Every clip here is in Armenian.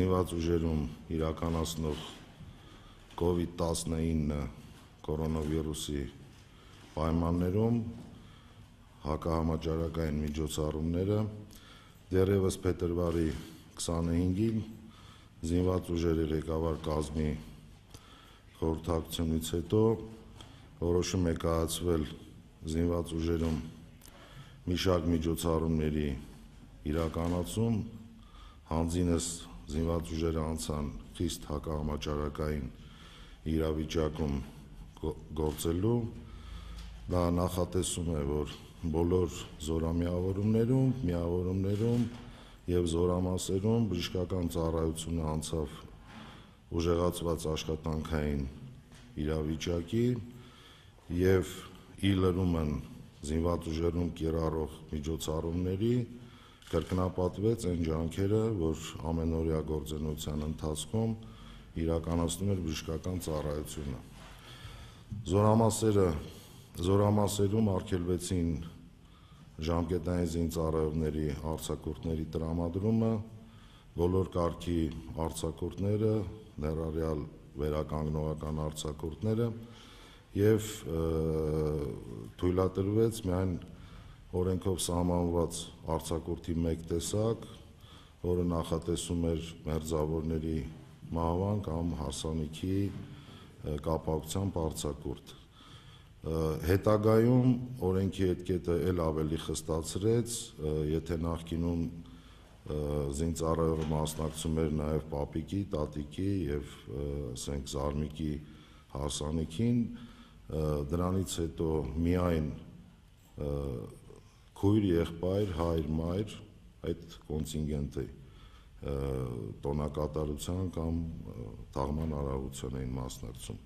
զինված ուժերում իրականացնող COVID-19 կորոնավիրուսի պայմաններում հակահամաճարակային միջոցառումները դեռևս փետրվարի 25-ին զինված ուժերի ղեկավար կազմի խորհրդակցությունից հետո որոշում է կայացվել զինված ուժերում մի շարք միջոցառումների իրականացում, հանձինս զինված ուժերը անցան խիստ հակահամաճարակային իրավիճակում գործելու, դա նախատեսում է, որ բոլոր զորամիավորումներում, միավորումներում և զորամասերում բժշկական ծառայությունը անցավ ուժեղացված աշխատանքային իրավիճակի և ի լրումն զինված ուժերում կիրառող միջոցառումների կրկնապատկվեց այն ջանքերը, որ ամենօրյա գործունեության ընթացքում իրականացնում էր բժշկական ծառայությունը։ Զորամասերում արգելվեցին ժամկետային զինծառայողների արձակուրդների տրամադրումը, բոլոր կարգի արձակուրդները, ներառյալ վերականգնողական արձակուրդները և թույլատրվեց միայն օրենքով սահմանված արձակուրդի մեկ տեսակ, որը նախատեսում էր մերձավորների մահվան կամ հարսանիքի կապակցությամբ արձակուրդ։ Հետագայում օրենքի էդկետը էլ ավելի խստացրեց, եթե նախկինում զինծառայողը մասնակցում էր նաև պապիկի, տատիկի և զարմիկի հարսանիքին, դրանից հետո միայն քույր, եղբայր, հայր, մայր այդ կոնտինգենտի տոնակատարության կամ թաղման արարողության էին մասնակցում։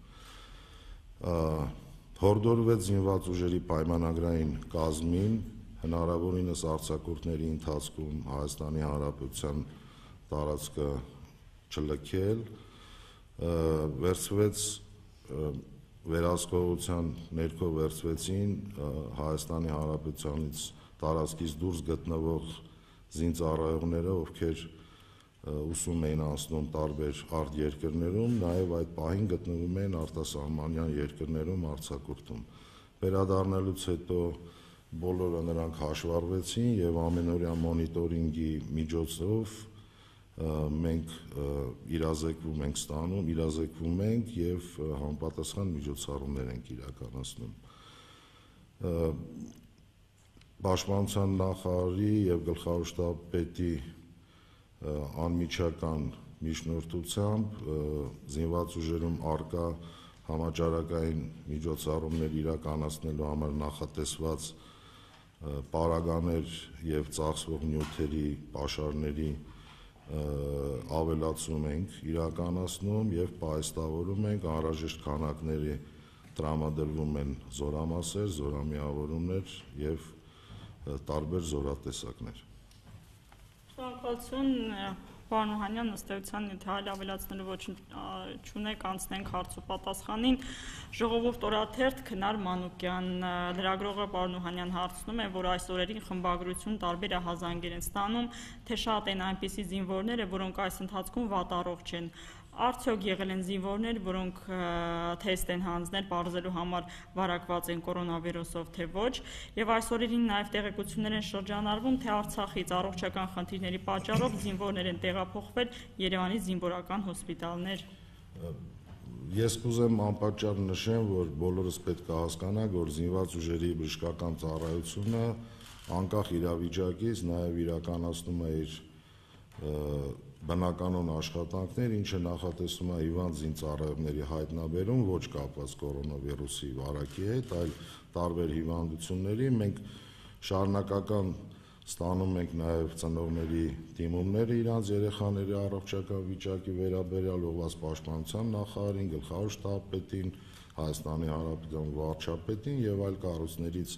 Հորդորվեց զինված ուժերի պայմանագրային կազմին հնարավորինս արձակուրդների ընթացքում Հայաստանի Հանրապետության տարածքը չլքել, վերահսկողության ներքո վերցվեցին Հայաստանի Հանրապետությանից տարածքից դուրս գտնվող զինծառայողները, ովքեր ուսում էին անցնում տարբեր արտերկրներում, նաև այդ պահին գտնվում էին արտասահմանյան երկրներում արձակուրդում։ Վերադառնալուց հետո բոլորը նրանք հաշվառվեցին և ամենօրյա մոնիտորինգի միջոցով մենք իրազեկվում ենք և համապատասխան միջոցառումներ ենք իրականացնում։ Պաշտպանության նախարարի և գլխավոր շտաբի պետի անմիջական միջնորդությամբ զինված ուժերում առկա համաճարակային միջոցառումներ իրականացնելու համար նախատեսված պարագաներ և ծախսվող նյութերի պաշարների ավելացում ենք իրականացնում և պահեստավորում ենք, անհրաժեշտ քանակների տրամադրվում են զորամասեր, զորամիավորումներ և տարբեր զորատեսակներ։ Շնորհակալություն, պարոն Օհանյան, ըստ էության, եթե այլ ավելացնելու ոչինչ չունեք, անցնենք հարց ու պատասխանին։ Ժողովուրդ օրաթերթ, Քնար Մանուկյան, լրագրողը պարոն Օհանյան հարցնում է, որ այս օրերին խմբագրություն տարբեր ահազանգեր են ստանում, թե շատ են այնպիսի զինվորները, որոնք այս ընթացքում վատառողջ են։ Արդյոք եղել են զինվորներ, որոնք թեստ են հանձնել պարզելու համար վարակված են կորոնավիրուսով, թե ոչ, և այս օրերին նաև տեղեկություններ են շրջանառվում, թե Արցախից առողջական խնդիրների պատճառով զինվորներ են տեղափոխվել Երևանի զինվորական հոսպիտալներ։ Ես կուզեմ անպատճառ նշեմ, որ բոլորս պետք է հասկանանք, որ զինված ուժերի բժշկական ծառայությունը անկախ իրավիճակից նաև իրականացնում է իր բնականոն աշխատանքներ, ինչը նախատեսում է հիվանդ զինծառայողների հայտնաբերում, ոչ կապված կորոնավիրուսի վարակի հետ, այլ տարբեր հիվանդությունների։ Մենք շարունակական ստանում ենք նաև ծնողների դիմումները իրանց երեխաների առողջական վիճակի վերաբերյալ, ուղղված պաշտպանության նախարարին, գլխավոր շտաբի պետին, Հայաստանի Հանրապետության վարչապետին և այլ կառույցներից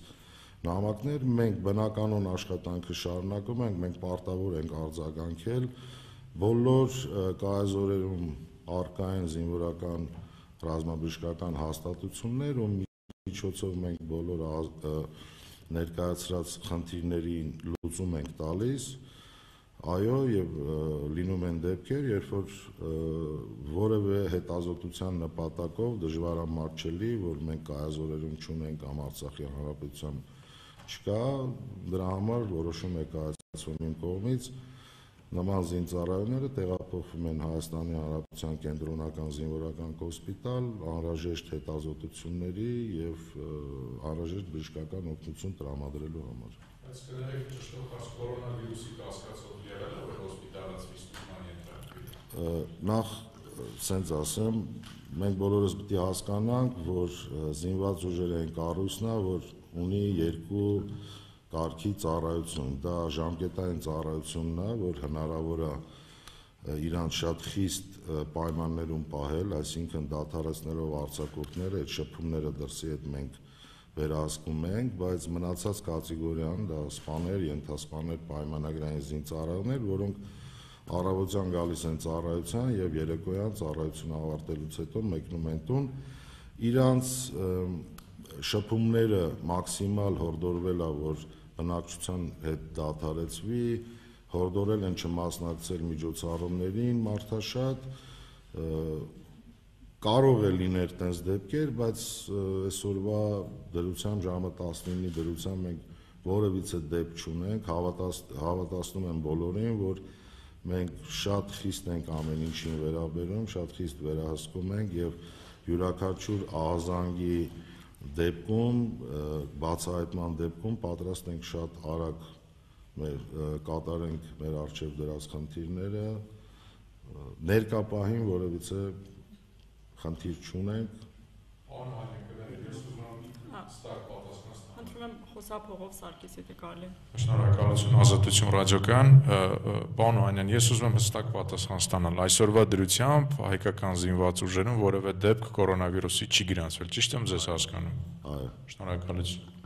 նամակներ։ Մենք բնականոն աշխատանքը շարունակում ենք, մենք պարտավոր ենք արձագանքել բոլոր կայազորերում առկա են զինվորական ռազմաբժշկական հաստատություններ, ու միջոցով մենք բոլոր ներկայացրած խնդիրներին լուծում ենք տալիս։ Այո, եւ լինում են դեպքեր, երբ որ որևէ հետազոտության նպատակով դժվարամատչելի, որ մենք կայազորերում չունենք կամ Արցախի հանրապետության չկա, դրա համար որոշում է կայացվում իմ կողմից նման զինծառայողները տեղափոխվում են Հայաստանի Հանրապետության կենտրոնական զինվորական հոսպիտալ անհրաժեշտ հետազոտությունների եւ անհրաժեշտ բժշկական օգնություն տրամադրելու համար։ Բայց կներեք ճշտով կորոնավիրուսի կասկածով եղել է, որ հոսպիտալացվի ստուգման ենթարկվի։ Նախ սենց ասեմ, մենք բոլորս պետք է հասկանանք, որ զինված ուժերի այն կառույցն է, որ ունի երկու կարգի ծառայություն, դա ժամկետային ծառայությունն է, որ հնարավոր է իրանց շատ խիստ պայմաններում պահել, այսինքն դադարեցնելով արձակուրդները, այդ շփումները դրսի հետ մենք վերահսկում ենք, բայց մնացած կատեգորիան դա սպաներ, ենթասպաներ, պայմանագրային զինծառայողներ, որոնք առավոտյան գալիս են ծառայության եւ երեկոյան ծառայությունը ավարտելուց հետո մեկնում են տուն, իրանց շփումները մաքսիմալ հորդորվել է, որ բնակչության հետ դադարեցվի, հորդորել են չմասնակցել միջոցառումներին մարդաշատ, կարող է լինել տենց դեպքեր, բայց այսօրվա դրությամբ ժամը 19-ի դրությամբ մենք որևիցե դեպք չունենք, հավատացնում եմ բոլորին, որ մենք շատ խիստ ենք ամեն ինչին վերաբերում, շատ խիստ վերահսկում ենք եւ յուրաքանչյուր ահազանգի դեպքում, բացահայտման դեպքում պատրաստ ենք շատ արագ կատարենք մեր առջև դրած խնդիրները, ներկա պահին որևիցե խնդիր չունենք։ Խնդրում եմ խոսափողով Սարգիս, եթե կարելի։ Շնորհակալություն Ազատություն ռադիոկայան, պարոն Օհանյան, ես ուզում եմ հստակ պատասխան ստանալ։ Այսօրվա դրությամբ հայկական զինված ուժերում որևէ դեպք կորոնավիրուսի չի գրանցվել, ճիշտ եմ ձեզ հասկանում։ Այո։ Շնորհակալություն։